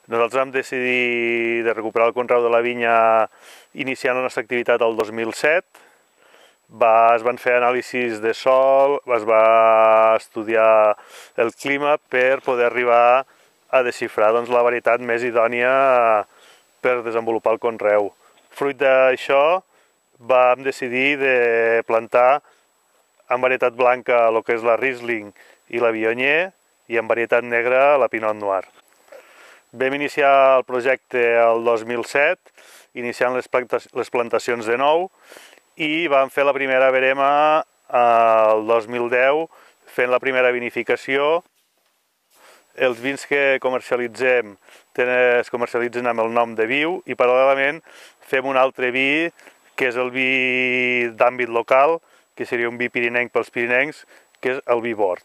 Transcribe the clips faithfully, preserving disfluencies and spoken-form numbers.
Nosaltres vam decidir de recuperar el conreu de la vinya iniciant la nostra activitat el dos mil set. Va, es van fer anàlisis de sòl, es va estudiar el clima per poder arribar a desxifrar doncs, la varietat més idònia per desenvolupar el conreu. Fruit d'això vam decidir de plantar en varietat blanca el que és la Riesling i la Viognier i en varietat negra la Pinot Noir. Vam iniciar el projecte el dos mil set, iniciant les plantacions de nou, i vam fer la primera verema el dos mil deu, fent la primera vinificació. Els vins que comercialitzem es comercialitzen amb el nom de Viu i paral·lelament fem un altre vi, que és el vi d'àmbit local, que seria un vi pirinenc pels pirinencs, que és el vi Bord.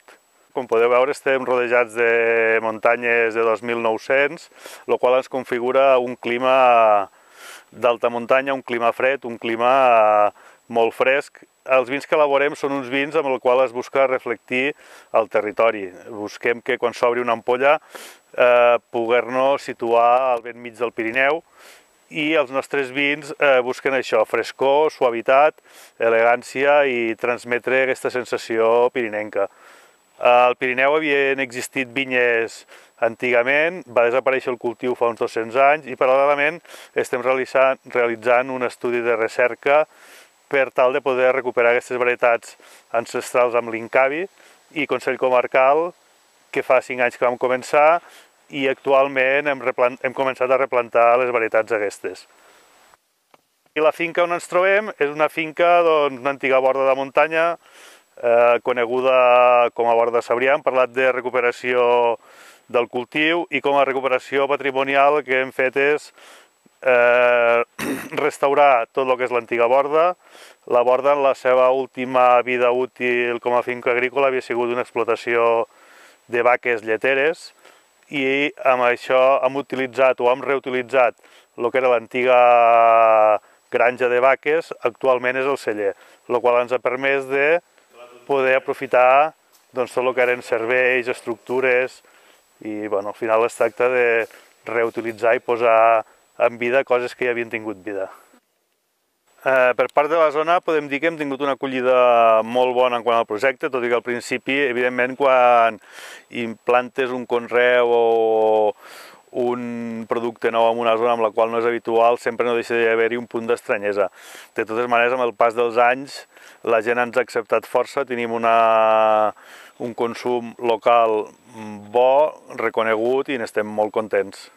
Com podeu veure, estem rodejats de muntanyes de dos mil nou-cents, el qual ens configura un clima d'alta muntanya, un clima fred, un clima molt fresc. Els vins que elaborem són uns vins amb els quals es busca reflectir el territori. Busquem que quan s'obri una ampolla eh, poder-nos situar al ben mig del Pirineu, i els nostres vins eh, busquen això, frescor, suavitat, elegància i transmetre aquesta sensació pirinenca. Al Pirineu havien existit vinyes antigament, va desaparèixer el cultiu fa uns dos-cents anys i paral·lelament estem realitzant, realitzant un estudi de recerca per tal de poder recuperar aquestes varietats ancestrals amb l'Incavi i Consell Comarcal, que fa cinc anys que vam començar, i actualment hem, hem començat a replantar les varietats aquestes. I la finca on ens trobem és una finca d'una doncs, antiga borda de muntanya, eh, coneguda com a Borda de Sabrià. Hem parlat de recuperació del cultiu i com a recuperació patrimonial el que hem fet és eh, restaurar tot el que és l'antiga borda. La borda en la seva última vida útil com a finca agrícola havia sigut una explotació de vaques lleteres, i amb això hem utilitzat o hem reutilitzat el que era l'antiga granja de vaques, actualment és el celler, el qual ens ha permès de poder aprofitar doncs, tot el que eren serveis, estructures, i bueno, al final es tracta de reutilitzar i posar en vida coses que ja havien tingut vida. Eh, per part de la zona podem dir que hem tingut una acollida molt bona en quant al projecte, tot i que al principi, evidentment, quan implantes un conreu o un producte nou en una zona amb la qual no és habitual, sempre no deixa d'haver-hi un punt d'estranyesa. De totes maneres, amb el pas dels anys, la gent ens ha acceptat força, tenim una, un consum local bo, reconegut, i n'estem molt contents.